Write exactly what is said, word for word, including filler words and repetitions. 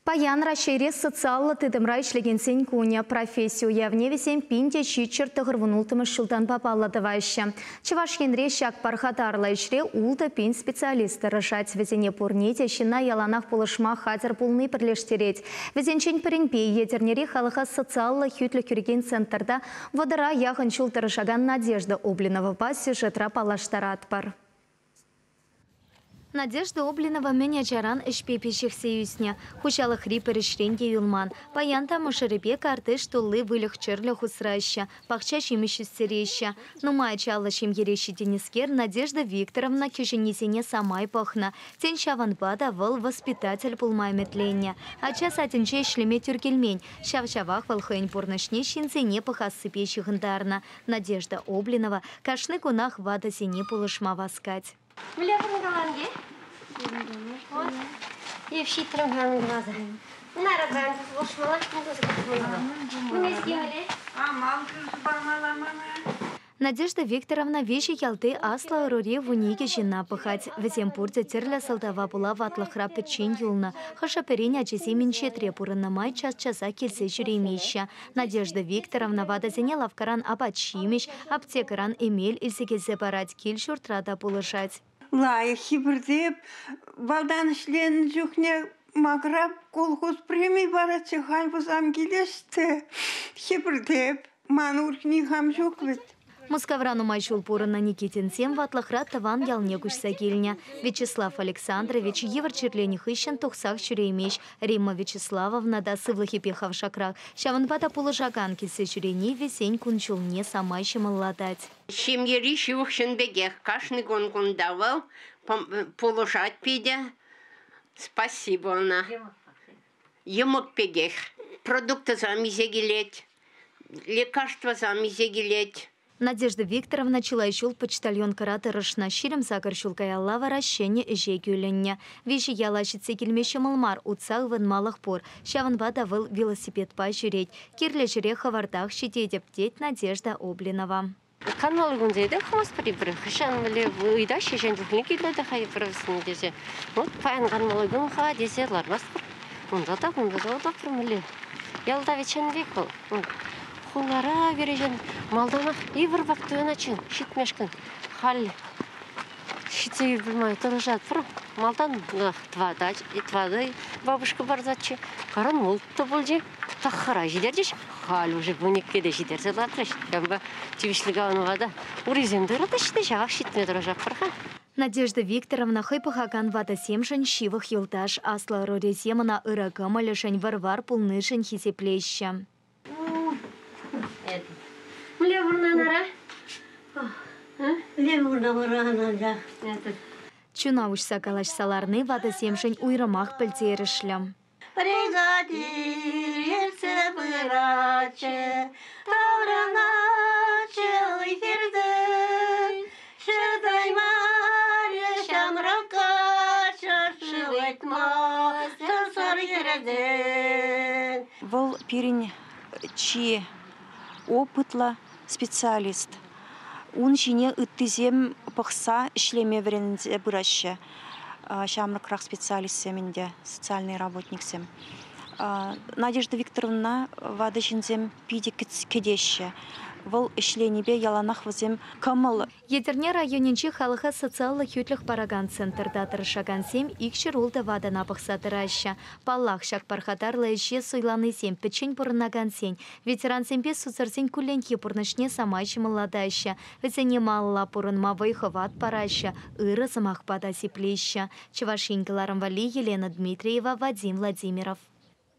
Паян Раҫҫейре социаллӑ тытӑмра ӗҫлекенсен кунӗ. Професси уявне вӗсем пин те ҫичҫӗр тӑхӑр вун улттӑмӗш ҫултанпа паллӑ тӑваҫҫӗ. Чӑваш Енре ҫак пархатарлӑ ӗҫре ултӑ пин специалист тӑрӑшать. Вӗсене пурне те ҫынна яланах пулӑшма хатӗр пулни пӗрлештерет. Вӗсенчен пӗринпе Етӗрнери халӑха социаллӑ хӳтлӗх кӳрекен центрта вӑтӑра яхӑн ҫул тӑрӑшакан Надежда Облиновӑпа сюжетра паллаштаратпӑр. Надежда Облинова мӗн ачаран ӗҫпе пиҫӗхсе ӳснӗ. Хуҫалӑхри пӗр ӗҫрен те юлман. Паян та мӑшӑрӗпе картиш тулли выльӑх-чӗрлӗх усраҫҫӗ, пахча ҫимӗҫ ӳстереҫҫӗ. Нумай ачаллӑ ҫемьере ҫитӗннӗскер Надежда Викторовна кӗҫӗннисене самай пӑхнӑ. Тен, ҫавӑнпа та вӑл воспитатель пулма ӗмӗтленнӗ. Ача садӗнче ӗҫлеме тӳр килмен. Ҫав-ҫавах вӑл хӑйӗн пурнӑҫне ҫынсене пӑхассипе ҫыхӑнтарнӑ. Надежда Облинова кашни кунах ватӑсене пулӑшма васкать. Надежда Викторовна виҫӗ ялти аслӑ ӑрури вун икӗ ҫынна пӑхать. Вӗсем пурте тӗрлӗ сӑлтава пула ватлӑхра пӗччен юлнӑ. Хӑшӗ-пӗрин ачисем инҫетре пурӑннӑ май час-часах килсе ҫӳремеҫҫӗ. Надежда Викторовна ватӑсене лавккаран апат-ҫимӗҫ, аптекӑран эмел илсе килсе парать, кил-ҫуртра та пулӑшать. Лайӑх хӗпӗртеп, балдан ӗҫленӗ чухне макӑрап колхоз преми паратчӗ, халь пусам килеҫ те хӗпӗртеп. Ман урӑх никам ҫук вӗт. Мускавра нумай ҫул пурӑннӑ Никитинсем ватлӑхра тӑван ялне куҫса килнӗ. Вячеслав Александрович йывӑр чирленӗ хыҫҫӑн тухсах ҫӳреймест. Римма Вячеславовна та сывлӑхӗпе хавшакрах. Ҫавӑнпа та пулӑшакан килсе ҫӳрени вӗсен кун-ҫулне самай ҫӑмӑллатать. Ҫемьери ҫывӑх ҫын пекех кашни кун кунта вӑл пулӑшать питӗ. Спасибо ӑна. Йӑмӑк пекех. Продуктысем илсе килет, лекарствӑсем илсе килет. Надежда Викторовна чылай ҫул почтальонкӑра тӑрӑшнӑ. Ҫирӗм сакӑр ҫул каялла вара ҫӗнӗ ӗҫе кӳлӗннӗ. Виҫӗ яла ҫитсе килме ҫӑмӑл мар, утса ывӑнмалӑх пур. Ҫавӑнпа та вӑл велосипедпа ҫӳрет. Кирлӗ ҫӗре хӑвӑртах ҫитетӗп, тет Надежда Облинова. Канмалли кунсенче те хӑмастпӑр эпир. Хӑҫан вӗле ыйтаҫҫӗ, ҫын чухне килнӗ те ха эпир вӗсене тесе. Вот паян канмалли кун-ха тесе лармастпӑр. Унта та, кунта та утатпӑр мӗнле. Ялта ведь ҫын пек вӑл. Хулара кӗрешен малтанах йывӑр пек туйӑнатчӗ, ҫитмешкӗн. Халь ҫитсе юлмай тӑрӑшатпӑр. Малтан тӑватӑ, тӑватӑ бабушка барсатчӗ. Каран улттӑ пулчӗ. Таххӑра ҫитерчӗҫ. Халь уже вун иккӗ те ҫитерсе лартрӗҫ. Ҫавӑнпа тивӗҫлӗ канӑва та урисем тӑратаҫҫӗ те ҫавах ҫитме тӑрӑшатпӑр-ха. Надежда Викторовна хӑй пӑхакан ватӑсемшӗн ҫывӑх юлташ. Аслӑ ӑрурисем ӑна ырӑ кӑмӑлӗшӗн, вӑр-вар пулнишӗн хисеплеҫҫӗ. Чуна уҫса калаҫса ларни ватӑсемшӗн уйрӑмах пӗлтерӗшлӗ. Бригадир ертсе пыратчӗ, таврӑнатчӗ уй-хиртен. Чӑтаймарӗ ҫамрӑк каччӑ, шыв ыйтмасӑр сар хӗртен. Вӑл пирӗн чи опытлӑ специалист. Ун ҫине ыттисем пӑхса ӗҫлеме вӗренсе пыраҫҫӗ. Ҫамрӑкрах специалистсем ӗнтӗ, социальный работниксем. Надежда Викторовна ватӑ ҫынсем питӗ кӗтеҫҫӗ. Вӑл ӗҫленипе яланах вӗсем кӑмӑл. Етӗрне районӗнчи халӑха социаллӑ хӳтлӗх паракан центрта тӑрӑшакансем икҫӗр ултӑ ватӑна пӑхса тӑраҫҫӗ. Паллах, ҫак пархатарлӑ ӗҫе суйланисем, пӗччен пурӑнакансен, ветерансемпе сусӑрсен кулленхи пурнӑҫне самай ҫӑмӑллатаҫҫӗ. Вӗсене малалла пурӑнма вӑй-хӑват параҫҫӗ, ырӑ сӑмахпа та сиплеҫҫӗ. Чӑваш Ен кӑларӑм валли Елена Дмитриева, Вадим Владимиров.